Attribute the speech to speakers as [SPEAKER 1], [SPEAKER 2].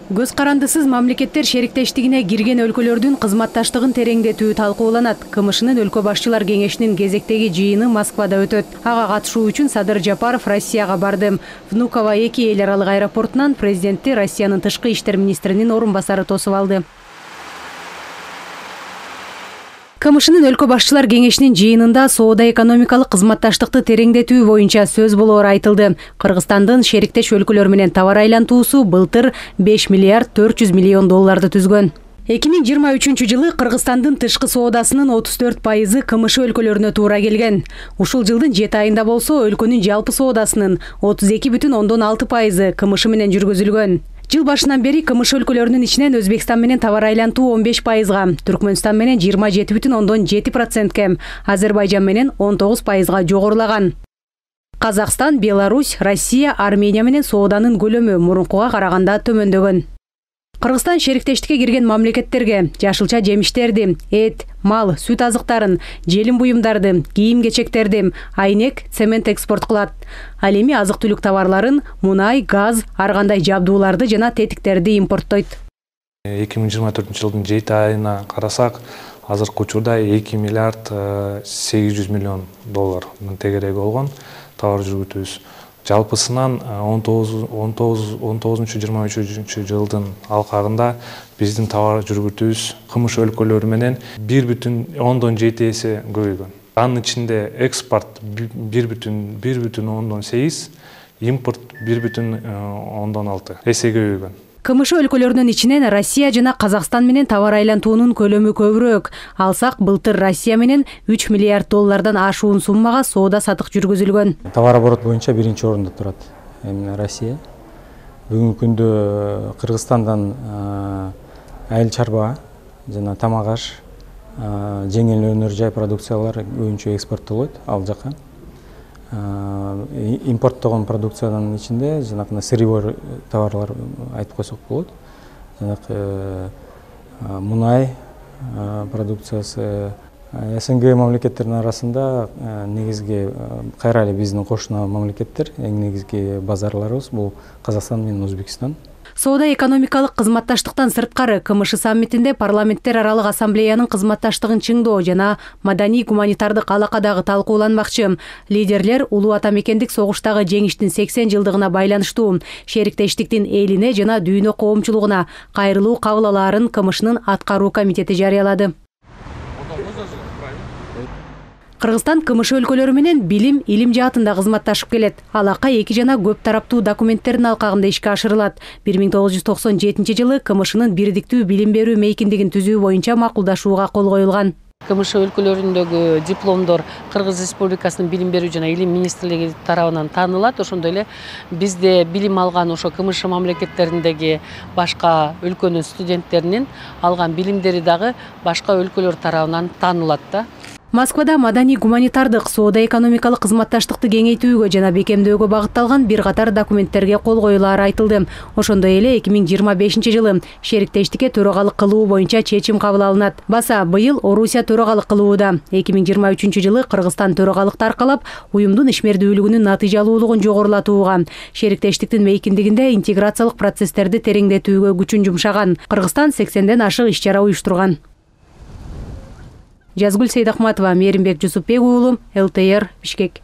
[SPEAKER 1] Көз карандысыз мамлекеттер шериктештигине кирген өлкөлөрдүн кызматташтыгын тереңдетүү талкууланат. КМШнын өлкө башчылар кеңешинин кезектеги жыйыны Москвада өтөт. Ага катышуу үчүн Садыр Жапаров Россияга барды. Внуково 2 эл аралык аэропортунан президентти Россиянын тышкы иштер министринин орун басары тосуп алды. КМШнын өлкө башчылар кеңешинин жыйынында соода-экономикалык кызматташтыкты тереңдетүү боюнча сөз болоору айтылды. Кыргызстандын шериктеш өлкөлөр менен товар айлантуусу былтыр 5 миллиард 400 миллион долларды түзгөн. 2023 жылы Кыргызстандын тышкы соодасынын 34% КМШ өлкөлөрүнө туура келген. Ушул жылдын 7 айында болсо өлкөнүн жалпы соодасынын 32,6% КМШ менен жүргүзүлгөн. Жыл башынан бери КМШ өлкөлөрүнүн ичинен Өзбекстан менен товар айлантуу 15%га, Түркмөнстан менен 27,7%ке, Азербайжан менен 19%га жогорулаган. Казакстан, Беларусь, Россия, Армения менен сооданын көлөмү мурункуга караганда төмөндөгөн. Кыргызстан шериктештикке кирген мамлекеттерге жашылча жемиштерди, эт, мал, сүт азыктарын, желим буюмдарды, кийим-кечектерди, айнек, цемент экспорт кылат. Ал эми азык-түлүк товарларын, мунай, газ, ар кандай жабдууларды жана тетиктерди импорттойт.
[SPEAKER 2] 2024 жылдын 7 айына карасак, азыркы учурда 2 миллиард 800 миллион доллардын тегереги болгон товар жүргүтүүбүз. Жалпысынан 19-23 жылдын алкагында биздин товар жүргүтүүбүз КМШ өлкөлөрү менен 1,7 эсе көбөйгөн. Анын ичинде экспорт 1,8, импорт 1,6 эсе көбөйгөн.
[SPEAKER 1] КМШ өлкөлөрүнүн ичинен Россия жана Казакстан менен товар айлантуунун көлөмү көбүрөөк. Алсак, былтыр Россия менен 3 миллиард доллардан ашуун суммага соода сатык жүргүзүлгөн.
[SPEAKER 3] Товар оборот боюнча биринчи орунда турат Россия. Бүгүнкү күндө Кыргызстандан айыл чарба жана тамак аш, жеңил өнөр жай продукциялар көбүнчө экспорттолот ал жака. Импорттогон продукциянын ичинде жанагы сырьевой товарлар айтып койсок болот. Жанагы мунай продукциясы СНГ мамлекеттеринин арасында негизги кайра эле биздин кошуна мамлекеттер, эң негизги базарларыбыз бул Казакстан менен Өзбекстан.
[SPEAKER 1] Соода-экономикалык кызматташтыктан сырткары КМШ саммитинде парламенттер аралык ассамблеянын кызматташтыгын чыңдоо жана маданий-гуманитардык алакадагы талкууланмакчы. Лидерлер улуу ата мекендик согуштагы жеңиштин 80 жылдыгына байланыштуу шериктештиктин элине жана дүйнө коомчулугуна кайрылуу кабыл алаарын КМШнын аткаруу комитети жарыялады. Кыргызстан КМШ өлкөлөрү менен билим, илим жаатында кызматташып келет. Алака эки жана көп тараптуу документтердин алкагында ишке ашырылат. 1997 жылы КМШнын бирдиктүү билим берүү мейкиндигин түзүү боюнча макулдашууга кол коюлган.
[SPEAKER 4] КМШ өлкөлөрүндөгү дипломдор Кыргыз Республикасынын билим берүү жана илим министрлиги тарабынан таанылат. Ошондой эле бизде билим алган ошо КМШ мамлекеттериндеги башка өлкөнүн студенттеринин алган билимдери дагы башка өлкөлөр тарабынан таанылат да.
[SPEAKER 1] Москвада маданий-гуманитардык соода-экономикалык кызматташтыкты кеңейтүүгө жана бекемдөөгө багытталган бир катар документтерге кол коюлаары айтылды. Ошондой эле 2025 жылы шериктештикке төрагалык кылуу боюнча чечим кабыл алынат. Баса быйыл Орусия төрагалык кылууда. 2023 жылы Кыргызстан төрагалыкты аркалап, уюмдун ишмердүүлүгүнүн натыйжалуулугун жогорулатууга, шериктештиктин мейкиндигинде интеграциялык процесстерди тереңдетүүгө күчүн жумшаган. Кыргызстан 80ден ашык иш-чара уюштурган. Жазгүл Сейдахматова, Мээринбек Жусупбек уулу, ЛТР, Бишкек.